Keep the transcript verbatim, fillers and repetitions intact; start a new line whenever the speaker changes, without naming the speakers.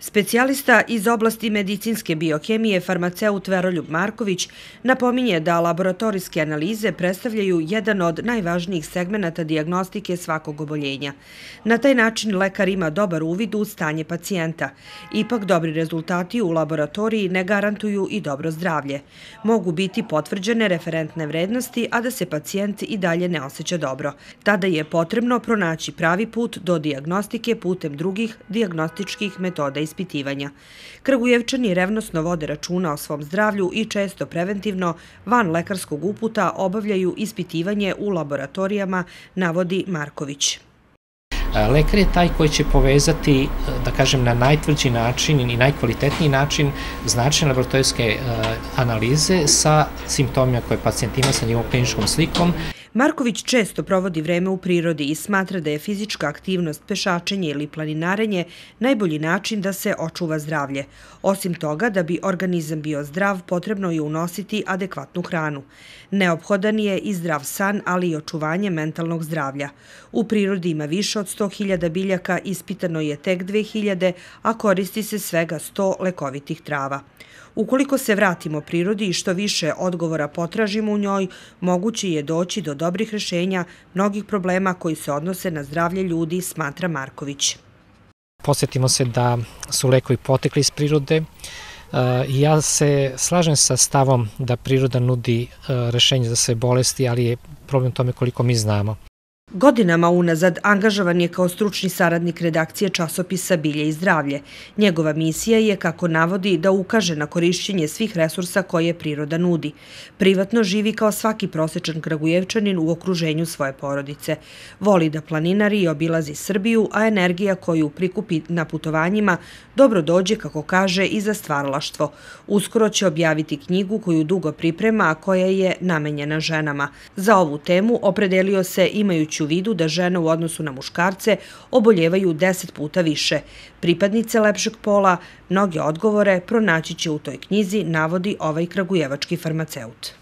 Specijalista iz oblasti medicinske biokemije farmaceut Veroljub Marković napominje da laboratorijske analize predstavljaju jedan od najvažnijih segmenata dijagnostike svakog oboljenja. Na taj način lekar ima dobar uvid u stanje pacijenta. Ipak dobri rezultati u laboratoriji ne garantuju i dobro zdravlje. Mogu biti potvrđene referentne vrednosti, a da se pacijent i dalje ne osjeća dobro. Tada je potrebno pronaći pravi put do dijagnostike putem drugih dijagnostičkih metoda ispitivanja. Kragujevčani revnosno vode računa o svom zdravlju i često preventivno, van lekarskog uputa, obavljaju ispitivanje u laboratorijama, navodi Marković.
Lekar je taj koji će povezati, da kažem, na najtvrđi način i najkvalitetniji način značajne laboratorijske analize sa simptomima koje pacijent ima, sa njegovom kliničkom slikom.
Marković često provodi vreme u prirodi i smatra da je fizička aktivnost, pešačenje ili planinarenje najbolji način da se očuva zdravlje. Osim toga, da bi organizam bio zdrav, potrebno je unositi adekvatnu hranu. Neophodan je i zdrav san, ali i očuvanje mentalnog zdravlja. U prirodi ima više od sto hiljada biljaka, ispitano je tek dve hiljade, a koristi se svega sto lekovitih trava. Ukoliko se vratimo prirodi i što više odgovora potražimo u njoj, moguće je doći do dobrih rješenja mnogih problema koji se odnose na zdravlje ljudi, smatra Marković.
Podsjetimo se da su lekovi potekli iz prirode. Ja se slažem sa stavom da priroda nudi rješenje za sve bolesti, ali je problem tome koliko mi znamo.
Godinama unazad angažovan je kao stručni saradnik redakcije časopisa Bilje i zdravlje. Njegova misija je, kako navodi, da ukaže na korišćenje svih resursa koje priroda nudi. Privatno živi kao svaki prosječan Kragujevčanin u okruženju svoje porodice. Voli da planinari i obilazi Srbiju, a energija koju prikupi na putovanjima dobro dođe, kako kaže, i za stvaralaštvo. Uskoro će objaviti knjigu koju dugo priprema, a koja je namenjena ženama. Za ovu temu opredelio se imajući u vidu da žene u odnosu na muškarce oboljevaju deset puta više. Pripadnice lepšeg pola mnoge odgovore pronaći će u toj knjizi, navodi ovaj kragujevački farmaceut.